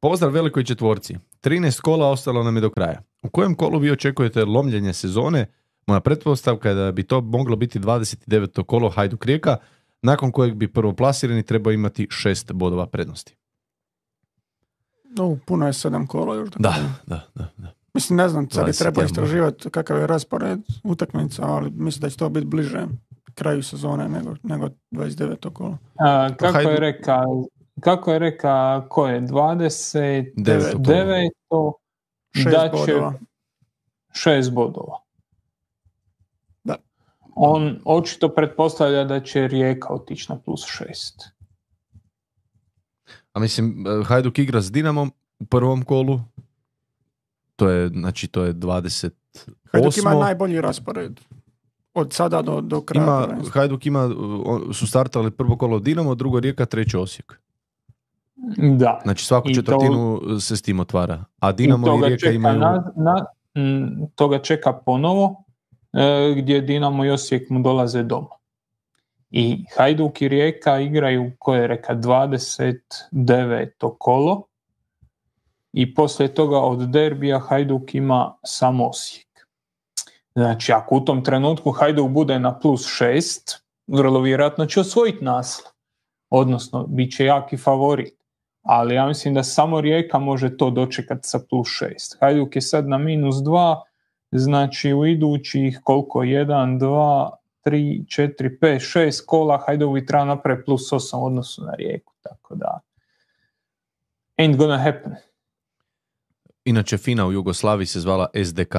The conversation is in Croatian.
Pozdrav velikoj četvorci. 13 kola ostalo nam je do kraja. U kojem kolu vi očekujete lomljenje sezone? Moja pretpostavka je da bi to moglo biti 29. kolo Hajduk Rijeka, nakon kojeg bi prvoplasirani trebao imati 6 bodova prednosti. Puno je 7 kola još. Da. Mislim, ne znam, sad bi 21 trebao istraživati kakav je raspored utakmica, ali mislim da će to biti bliže kraju sezone nego 29. kolo. Kako je reka, ko je 29. 6 da će bodova. 6 bodova. Da. On očito pretpostavlja da će Rijeka otići na plus 6. A mislim, Hajduk igra s Dinamom u prvom kolu. To je 28. Hajduk ima najbolji raspored. Od sada do kraja. Hajduk su startali prvo kolo Dinamo, drugo Rijeka, treće Osijek. Da. Znači svaku četvrtinu se s tim otvara. A Dinamo i Rijeka imaju... Toga čeka ponovo, gdje Dinamo i Osijek mu dolaze doma. I Hajduk i Rijeka igraju, ko je reka, 29. kolo. I poslije toga od derbija Hajduk ima samo Osijek. Znači, ako u tom trenutku Hajduk bude na plus 6, vrlo vjerojatno će osvojiti naslov. Odnosno, bit će jaki favorit. Ali ja mislim da samo Rijeka može to dočekati sa plus 6. Hajduk je sad na minus 2, znači u idućih koliko? 1, 2, 3, 4, 5, 6 kola Hajduk bi treba napraviti plus 8 u odnosu na Rijeku. Tako da, ain't gonna happen. Inače, FINA u Jugoslaviji se zvala SDK.